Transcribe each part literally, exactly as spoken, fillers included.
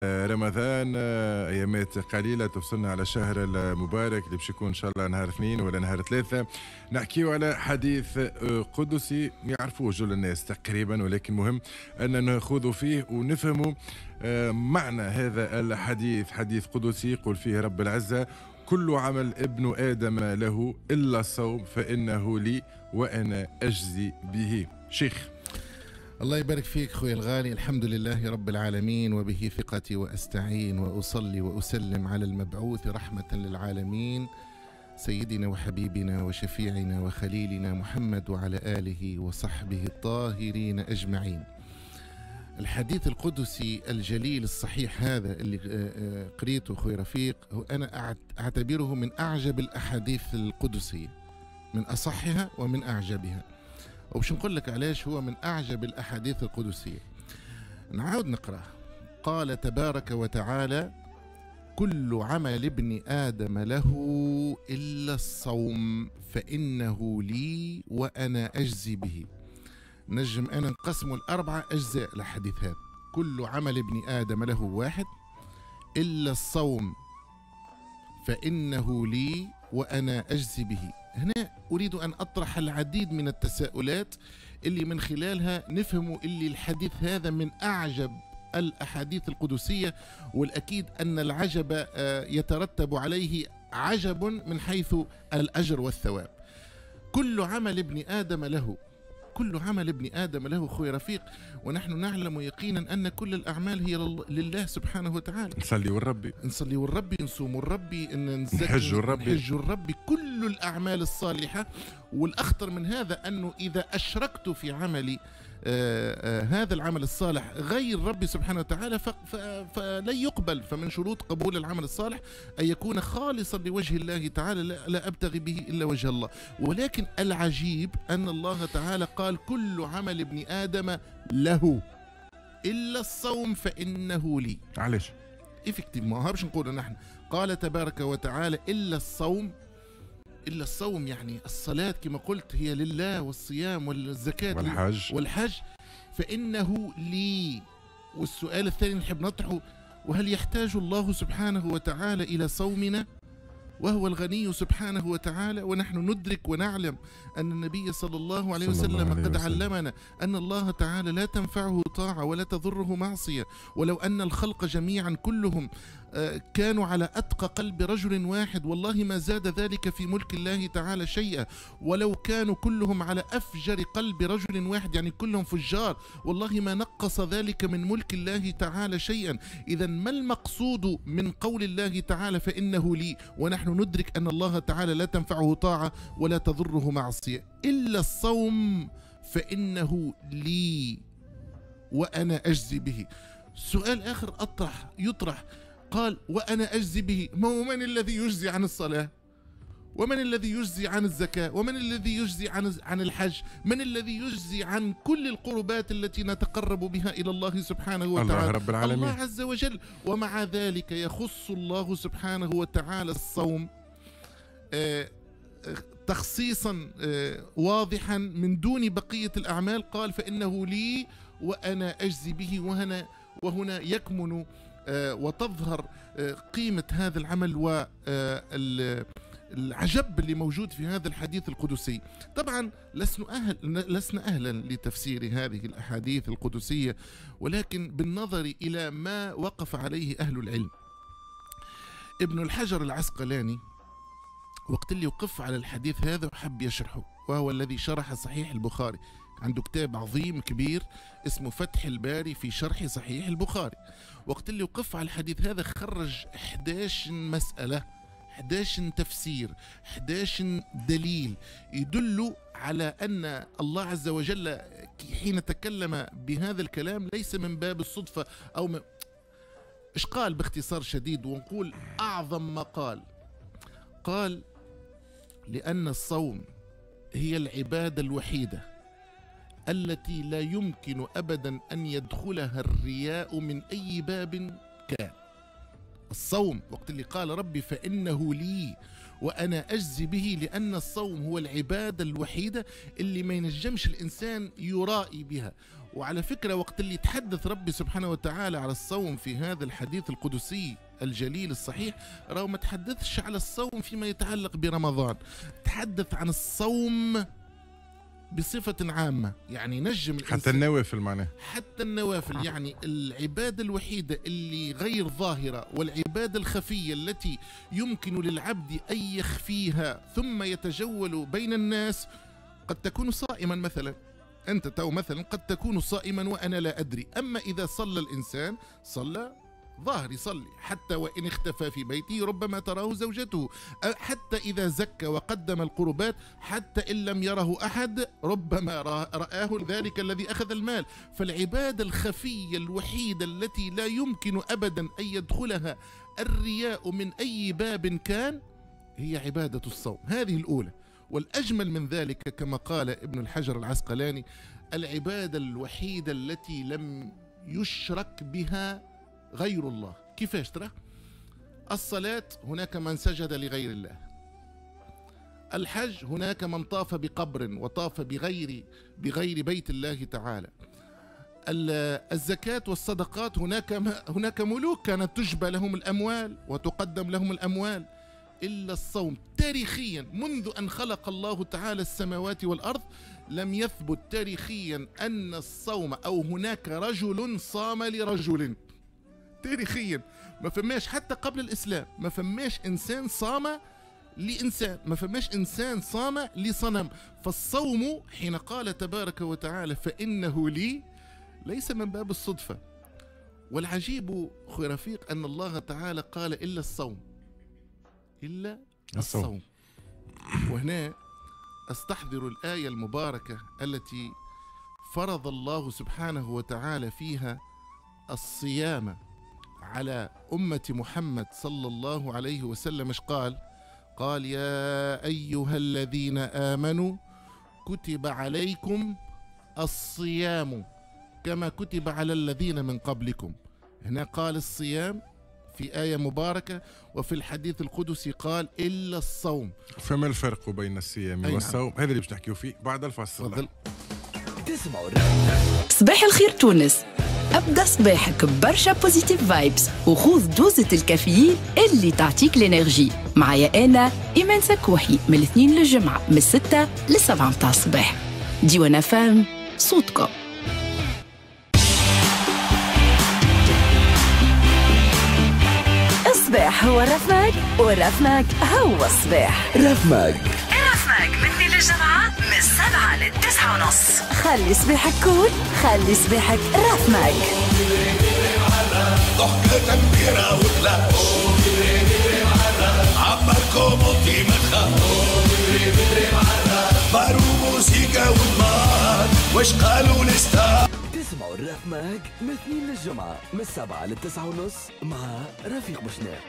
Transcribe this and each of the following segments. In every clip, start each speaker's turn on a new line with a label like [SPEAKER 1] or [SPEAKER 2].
[SPEAKER 1] رمضان ايامات قليله تفصلنا على الشهر المبارك اللي باش يكون ان شاء الله نهار اثنين ولا نهار ثلاثة. نحكيو على حديث قدسي يعرفوه جل الناس تقريبا، ولكن مهم ان ناخذ فيه ونفهموا معنى هذا الحديث. حديث قدسي يقول فيه رب العزة: كل عمل ابن ادم له الا الصوم فانه لي وانا اجزي به. شيخ
[SPEAKER 2] الله يبارك فيك خويا الغالي. الحمد لله رب العالمين، وبه ثقتي وأستعين، وأصلي وأسلم على المبعوث رحمة للعالمين سيدنا وحبيبنا وشفيعنا وخليلنا محمد وعلى آله وصحبه الطاهرين أجمعين. الحديث القدسي الجليل الصحيح هذا اللي قريته خويا رفيق، أنا أعتبره من أعجب الأحاديث القدسية، من أصحها ومن أعجبها. وبش نقول لك علاش هو من أعجب الأحاديث القدسية. نعاود نقرأ. قال تبارك وتعالى: كل عمل ابن آدم له إلا الصوم فإنه لي وأنا أجزي به. نجم أنا نقسم الأربعة أجزاء الحديث هذا. كل عمل ابن آدم له واحد إلا الصوم فإنه لي وأنا أجزي به. هنا أريد أن أطرح العديد من التساؤلات اللي من خلالها نفهم اللي الحديث هذا من أعجب الأحاديث القدسية، والأكيد أن العجب يترتب عليه عجب من حيث الأجر والثواب. كل عمل ابن آدم له، كل عمل ابن آدم له خوي رفيق، ونحن نعلم يقينا أن كل الأعمال هي لله سبحانه وتعالى.
[SPEAKER 1] نصلي والربي،
[SPEAKER 2] نصلي والربي، نصوم الربي، نزكي،
[SPEAKER 1] نحج الربي،
[SPEAKER 2] نحج الربي، كل الأعمال الصالحة. والأخطر من هذا أنه إذا أشركت في عملي آآ آآ هذا العمل الصالح غير ربي سبحانه وتعالى فلن يقبل. فمن شروط قبول العمل الصالح أن يكون خالصا لوجه الله تعالى، لا أبتغي به إلا وجه الله. ولكن العجيب أن الله تعالى قال كل عمل ابن آدم له إلا الصوم فإنه لي.
[SPEAKER 1] علاش؟
[SPEAKER 2] effectivement باش نقولوا نحن. قال تبارك وتعالى إلا الصوم، إلا الصوم يعني الصلاة كما قلت هي لله، والصيام والزكاة
[SPEAKER 1] والحج,
[SPEAKER 2] والحج فإنه لي. والسؤال الثاني نحب نطرحه: وهل يحتاج الله سبحانه وتعالى إلى صومنا وهو الغني سبحانه وتعالى؟ ونحن ندرك ونعلم أن النبي صلى الله عليه وسلم الله عليه قد وسلم. علمنا أن الله تعالى لا تنفعه طاعة ولا تضره معصية، ولو أن الخلق جميعا كلهم كانوا على أتقى قلب رجل واحد والله ما زاد ذلك في ملك الله تعالى شيئا، ولو كانوا كلهم على أفجر قلب رجل واحد يعني كلهم فجار والله ما نقص ذلك من ملك الله تعالى شيئا. إذا ما المقصود من قول الله تعالى فإنه لي، ونحن ندرك أن الله تعالى لا تنفعه طاعة ولا تضره معصية إلا الصوم فإنه لي وأنا أجزي به. سؤال آخر أطرح يطرح، قال وأنا أجزي به، ما هو من الذي يجزي عن الصلاة؟ ومن الذي يجزي عن الزكاة؟ ومن الذي يجزي عن عن الحج؟ من الذي يجزي عن كل القربات التي نتقرب بها إلى الله سبحانه وتعالى؟
[SPEAKER 1] الله رب العالمين،
[SPEAKER 2] الله عز وجل. ومع ذلك يخص الله سبحانه وتعالى الصوم آه تخصيصا آه واضحا من دون بقية الأعمال. قال فإنه لي وأنا أجزي به. وهنا وهنا يكمن آه وتظهر آه قيمة هذا العمل و آه العجب اللي موجود في هذا الحديث القدسي. طبعا لسنا أهل لسنا أهلا لتفسير هذه الأحاديث القدسية، ولكن بالنظر إلى ما وقف عليه أهل العلم. ابن الحجر العسقلاني وقت اللي وقف على الحديث هذا وحب يشرحه، وهو الذي شرح صحيح البخاري، عنده كتاب عظيم كبير اسمه فتح الباري في شرح صحيح البخاري. وقت اللي وقف على الحديث هذا خرج إحدى عشرة مسألة، إحدى عشر تفسير، إحدى عشر دليل يدل على أن الله عز وجل حين تكلم بهذا الكلام ليس من باب الصدفة أو من... إيش قال باختصار شديد ونقول أعظم ما قال؟ قال لأن الصوم هي العبادة الوحيدة التي لا يمكن أبدا أن يدخلها الرياء من أي باب كان. الصوم وقت اللي قال ربي فإنه لي وأنا أجزي به، لأن الصوم هو العبادة الوحيدة اللي ما ينجمش الإنسان يرائي بها. وعلى فكرة وقت اللي تحدث ربي سبحانه وتعالى على الصوم في هذا الحديث القدسي الجليل الصحيح، راهو ما تحدثش على الصوم فيما يتعلق برمضان، تحدث عن الصوم بصفة عامة. يعني نجم
[SPEAKER 1] حتى النوافل معناه،
[SPEAKER 2] حتى النوافل، يعني العبادة الوحيدة اللي غير ظاهرة والعبادة الخفية التي يمكن للعبد أن يخفيها ثم يتجول بين الناس. قد تكون صائما مثلا، أنت تو مثلا قد تكون صائما وأنا لا أدري. أما إذا صلى الإنسان صلى ظاهر، يصلي حتى وإن اختفى في بيته ربما تراه زوجته، حتى إذا زكى وقدم القربات حتى إن لم يره أحد ربما رآه ذلك الذي أخذ المال. فالعبادة الخفية الوحيدة التي لا يمكن أبدا أن يدخلها الرياء من أي باب كان هي عبادة الصوم، هذه الأولى. والأجمل من ذلك كما قال ابن الحجر العسقلاني، العبادة الوحيدة التي لم يشرك بها غير الله. كيفاش ترى؟ الصلاة هناك من سجد لغير الله، الحج هناك من طاف بقبر وطاف بغير بغير بيت الله تعالى، الزكاة والصدقات هناك هناك ملوك كانت تجبى لهم الأموال وتقدم لهم الأموال. إلا الصوم تاريخيا منذ أن خلق الله تعالى السماوات والأرض لم يثبت تاريخيا أن الصوم أو هناك رجل صام لرجل. تاريخيا ما فماش، حتى قبل الإسلام ما فماش إنسان صام لإنسان، ما فماش إنسان صام لصنم. فالصوم حين قال تبارك وتعالى فإنه لي ليس من باب الصدفة. والعجيب أخي رفيق أن الله تعالى قال إلا الصوم، إلا الصوم, الصوم. وهنا أستحضر الآية المباركة التي فرض الله سبحانه وتعالى فيها الصيام على أمة محمد صلى الله عليه وسلم. ايش قال؟ قال يا أيها الذين آمنوا كتب عليكم الصيام كما كتب على الذين من قبلكم. هنا قال الصيام في آية مباركة، وفي الحديث القدسي قال إلا الصوم.
[SPEAKER 1] فما الفرق بين الصيام والصوم؟ هذا اللي باش نحكيو فيه بعد الفاصل.
[SPEAKER 3] صباح الخير تونس، أبدأ صباحك برشا positive vibes وخوذ دوزة الكافيين اللي تعطيك l'énergie. معايا أنا إيمان سكوحي من الاثنين للجمعة من الستة للسبعة متاع الصباح. ديوان فام صوتكم.
[SPEAKER 4] الصباح هو الرفماك والرفماك هو الصباح.
[SPEAKER 5] رفماك
[SPEAKER 4] الرفماك من اثنين للجمعة من السبعة للتسعة ونص. خلي صباحك cool، خلي صباحك رفماك.
[SPEAKER 6] ضحكة كبيرة وكلاش عمركم وطي ما تخافوا بارو موسيقى والنار واش قالوا لستار.
[SPEAKER 5] تسمعوا الرفماك من اثنين للجمعة من السبعة للتسعة ونص مع رفيق بوشناق.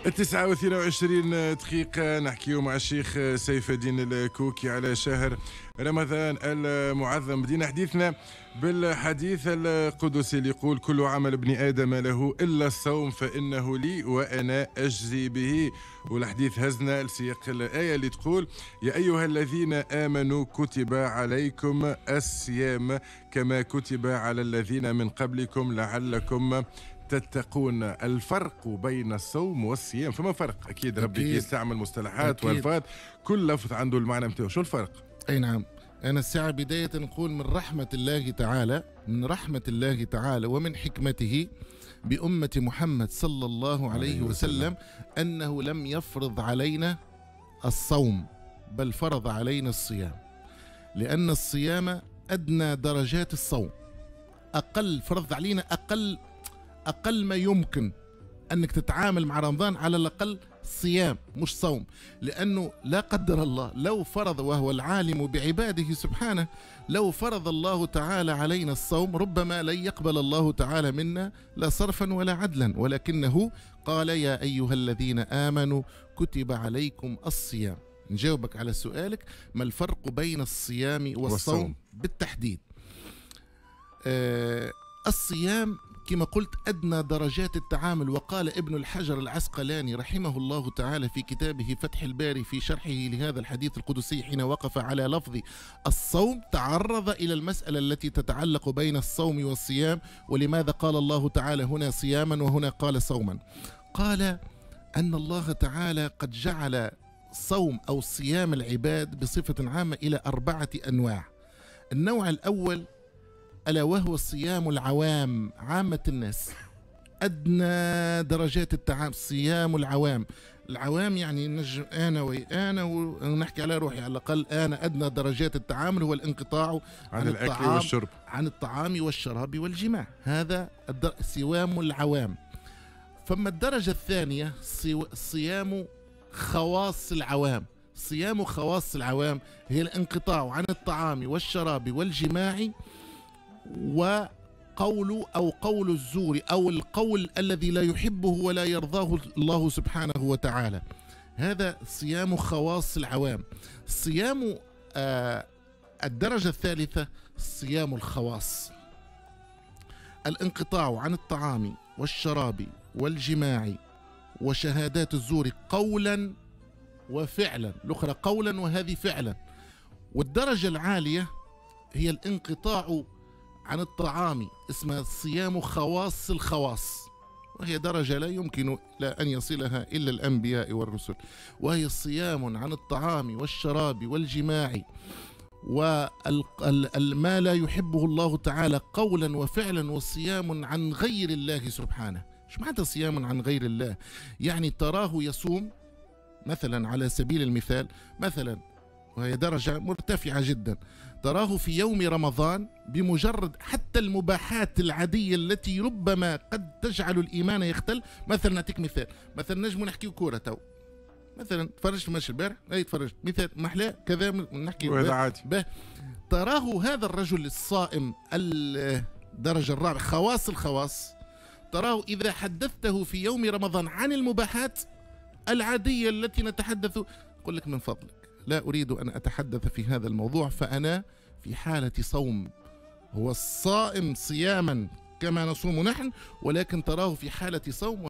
[SPEAKER 1] التسعة واثنين وعشرين دقيقة نحكيو مع الشيخ سيف الدين الكوكي على شهر رمضان المعظم. بدينا حديثنا بالحديث القدسي اللي يقول كل عمل ابن آدم له إلا الصوم فإنه لي وأنا أجزي به. والحديث هزنا لسياق الآية اللي تقول يا أيها الذين آمنوا كتب عليكم الصيام كما كتب على الذين من قبلكم لعلكم تتقون. الفرق بين الصوم والصيام، فما فرق؟ أكيد ربي يستعمل مصطلحات والفاظ، كل لفظ عنده المعنى متاعه. شو الفرق؟
[SPEAKER 2] أي نعم، أنا الساعة بداية نقول من رحمة الله تعالى، من رحمة الله تعالى ومن حكمته بأمة محمد صلى الله عليه وسلم أنه لم يفرض علينا الصوم بل فرض علينا الصيام، لأن الصيام أدنى درجات الصوم، أقل فرض علينا أقل أقل ما يمكن أنك تتعامل مع رمضان على الأقل صيام مش صوم، لأنه لا قدر الله لو فرض، وهو العالم بعباده سبحانه، لو فرض الله تعالى علينا الصوم ربما لن يقبل الله تعالى منا لا صرفا ولا عدلا، ولكنه قال يا أيها الذين آمنوا كتب عليكم الصيام. نجاوبك على سؤالك ما الفرق بين الصيام والصوم, والصوم. بالتحديد. آه الصيام كما قلت أدنى درجات التعامل. وقال ابن الحجر العسقلاني رحمه الله تعالى في كتابه فتح الباري في شرحه لهذا الحديث القدسي حين وقف على لفظ الصوم، تعرض إلى المسألة التي تتعلق بين الصوم والصيام، ولماذا قال الله تعالى هنا صياما وهنا قال صوما. قال أن الله تعالى قد جعل صوم أو صيام العباد بصفة عامة إلى أربعة أنواع. النوع الأول ألا وهو صيام العوام، عامة الناس، أدنى درجات التعام، صيام العوام. العوام يعني نجم أنا وأنا ونحكي على روحي على الأقل، أنا أدنى درجات التعامل هو الانقطاع عن, عن
[SPEAKER 1] الأكل والشرب،
[SPEAKER 2] عن الطعام والشراب والجماع، هذا صيام العوام. فما الدرجة الثانية صيام خواص العوام. صيام خواص العوام هي الانقطاع عن الطعام والشراب والجماع وقول أو قول الزور أو القول الذي لا يحبه ولا يرضاه الله سبحانه وتعالى. هذا صيام خواص العوام. صيام آه الدرجة الثالثة صيام الخواص، الانقطاع عن الطعام والشراب والجماع وشهادات الزور قولا وفعلا، الأخرى قولا وهذه فعلا. والدرجة العالية هي الانقطاع عن الطعام، اسمها صيام خواص الخواص، وهي درجة لا يمكن لا أن يصلها إلا الأنبياء والرسل، وهي الصيام عن الطعام والشراب والجماع وما لا يحبه الله تعالى قولا وفعلا، وصيام عن غير الله سبحانه. شو معنى صيام عن غير الله؟ يعني تراه يصوم مثلا، على سبيل المثال مثلا، وهي درجة مرتفعة جدا، تراه في يوم رمضان بمجرد حتى المباحات العادية التي ربما قد تجعل الإيمان يختل. مثلا نعطيك مثال، مثلا نجم نحكي كورة تو، مثلا تفرجت ماتش البارح، اي تفرجت، مثال محلاه كذا، نحكي
[SPEAKER 1] وهذا عادي.
[SPEAKER 2] به تراه هذا الرجل الصائم الدرجة الرابعة خواص الخواص، تراه إذا حدثته في يوم رمضان عن المباحات العادية التي نتحدث، يقول لك من فضلك لا أريد أن أتحدث في هذا الموضوع، فأنا في حالة صوم. هو الصائم صياما كما نصوم نحن، ولكن تراه في حالة صوم.